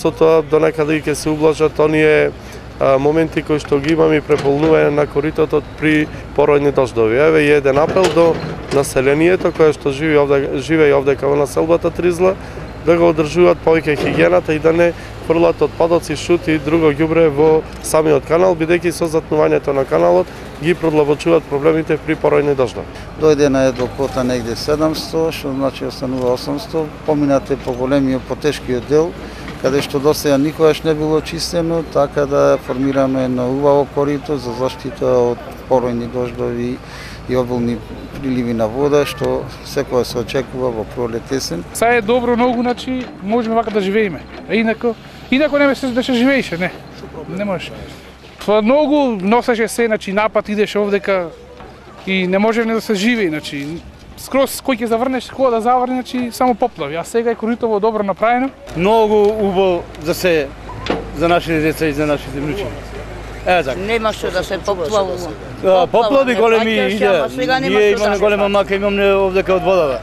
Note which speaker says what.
Speaker 1: со тоа до некаде ќе се ублажат оние моменти кои што ги имаме и преполнување на коритото при поројни дождови. Еве и еден апел до населението кое што живее овдека во населбата Тризла, да го одржуваат повеќе хигиената и да не фрлат отпадоци, шути и друго ѓубре во самиот канал, бидејќи со затнувањето на каналот ги продлабочуваат проблемите при поројни дождови.
Speaker 2: Дојде на кота негде 700, што значи останува 800, поминате по големиот, по тешкиот дел, каде што досега никогаш не било чистено, така да формираме на убаво корито за заштита од поројни дождови и обилни приливи на вода, што секоја се очекува во пролет есен.
Speaker 3: Сега е добро многу, значи можеме вака да живееме. А инако не се да се живееше, не може. Тоа многу носеше се, значи напад идеше овдека и не може не да се живее, значи скроз кој ќе заврнеш, кога да заврне, значи само поплави. А сега е коритово добро направено.
Speaker 4: Многу убаво за нашите деца и за нашите внуци.
Speaker 5: Немаше да се поплавува.
Speaker 4: Поплави големи иде. Ние имаме голема мака, имаме овдека од водава.